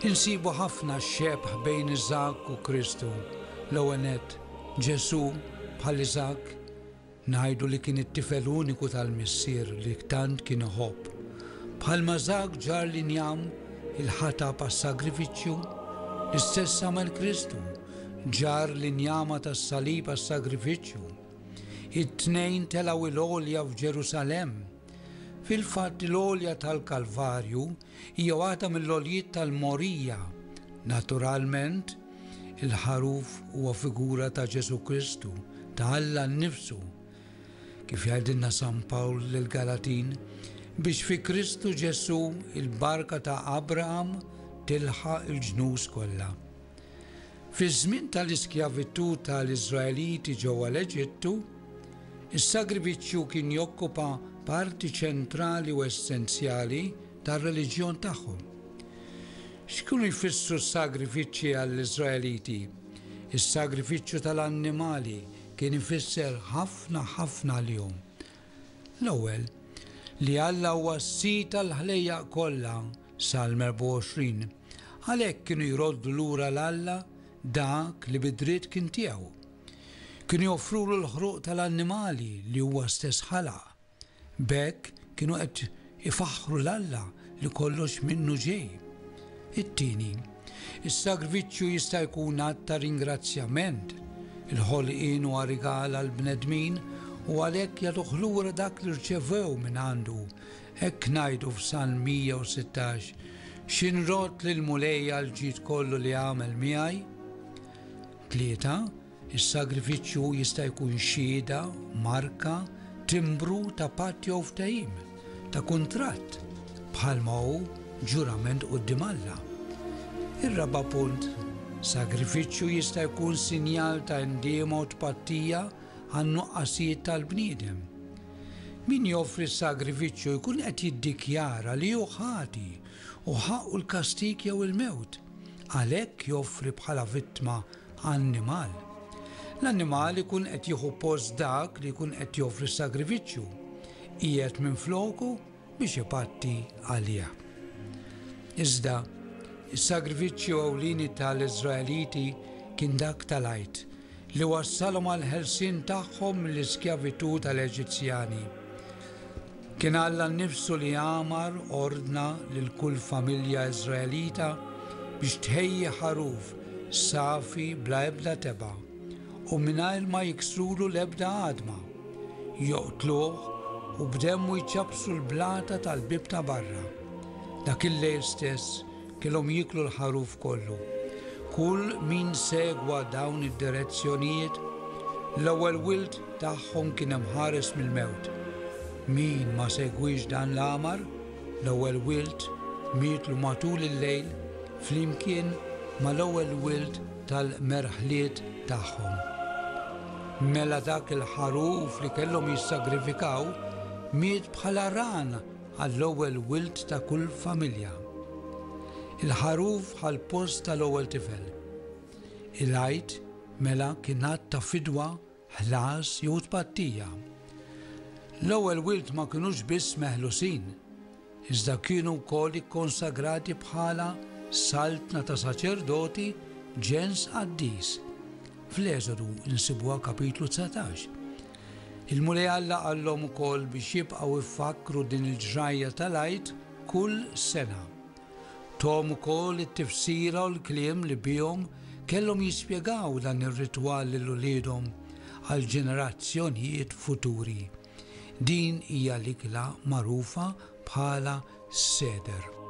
Insibu ħafna xebh bejn Iżakk u Kristu. L-ewwel nett, Ġesù, bħal Iżakk, ngħidu li kien it-tifel uniku tal-missier li tant kien iħobb. Bħalma Iżakk ġarr l-injam, il-ħatab għas-sagrifiċċju, l-istess għamel Kristu, ġarr l-injama tas-salib għas-sagrifiċċju. It-tnejn telgħu l-għolja f'Ġerusalemm. Fil-fatt l-għolja tal-Kalvarju hija waħda mill-għoljiet tal-Morija. Naturalment, il-ħaruf huwa figura ta' Ġesù Kristu, ta' Alla nnifsu. Kif jgħidilna San Pawl lill-Galatin, biex fi Kristu Ġesù il-barka ta' Abraham tilħaq il-ġnus kollha. Fiż-żmien tal-iskjavitù ta' l-Iżraeliti ġewwa l-Eġittu, is-sagrifiċċju kien jokkupa parti ċentrali u essenzjali tar-reliġjon tagħhom. X'kienu jfissru s-sagrifiċċji għall-Iżraeliti? Is-sagrifiċċju ta' l-annimali kien ifisser ħafna ħafna għalihom. L-ewwel, li Alla huwa s-Sid tal-ħlejjaq kollha, Salm 24. Għalhekk kienu jroddu lura 'l Alla dak li bi dritt kien tiegħu. Kienu joffrulu l-ħruq tal-annimali li huwa stess ħalaq. B'hekk kienu qed ifaħħru 'l Alla li kollox minnu ġej. It-tieni, is-sagrifiċċju jista' jkun att ta' ringrazzjament. Il-ħolqien huwa rigal għall-bnedmin u għalhekk jagħtuh lura dak li rċevew mingħandu. Hekk ngħidu f'Salm 116, Xi nrodd lill-Mulej għall-ġid kollu li għamel miegħi? Tlieta, is-sagrifiċċju jista' jkun xhieda, marka, timbru ta' patt jew ftehim, ta' kuntratt, bħalma hu ġurament quddiem Alla. Ir-raba' punt, sagrifiċċju jista' jkun sinjal ta' indiema u tpattija għan-nuqqasijiet tal-bniedem. Min joffri s-sagrifiċċju jkun qed jiddikjara li hu ħati u ħaqqu l-kastig jew il-mewt. Għalhekk joffri bħala vittma annimal. L-annimal ikun qed jieħu post dak li jkun qed joffri s-sagrifiċċju. Qiegħed minfloku biex ipatti għalih. Iżda, is-sagrifiċċju ewlieni tal-Iżraeliti kien dak tal-Għid, li wassalhom għall-ħelsien tagħhom mill-iskjavitù tal-Eġizzjani. Kien Alla nnifsu li amar, ordna, lil kull familja Iżraelita biex tħejji ħaruf safi bla ebda tebgħa u mingħajr ma jiksrulu l-ebda għadma. Joqtluh u b'demmu jċappsu l-blata tal-bieb ta' barra. Dak il-lejl stess kellhom jieklu l-ħaruf kollu. Kull min segwa dawn id-direzzjonijiet, l-ewwel wild tagħhom kien imħares mill-mewt. Min ma segwiex dan l-amar, l-ewwel wild mietlu matul il-lejl flimkien mal-ewwel wild tal-merħliet tagħhom. Mela dak il-ħaruf li kellhom jissagrifikaw miet bħala ran għall-ewwel wild ta' kull familja. Il-ħaruf ħa l-post tal-ewwel tifel. Il-Għid mela kien att ta' fidwa, ħlas jew tpattija. L-ewwel wild ma kinux biss meħlusin, iżda kienu wkoll ikkonsagrati bħala saltna ta' saċerdoti, ġens qaddis. Fl-Eżodu nsibuha kapitlu 19. Il-Mulej Alla qallhom ukoll biex jibqgħu jfakkru din il-ġrajja tal-Għid kull sena. Thom ukoll it-tifsira u l-kliem li bihom kellhom jispjegaw dan ir-ritwal lil uliedhom għal ġenerazzjonijiet futuri. Din hija l-ikla magħrufa bħala Seder.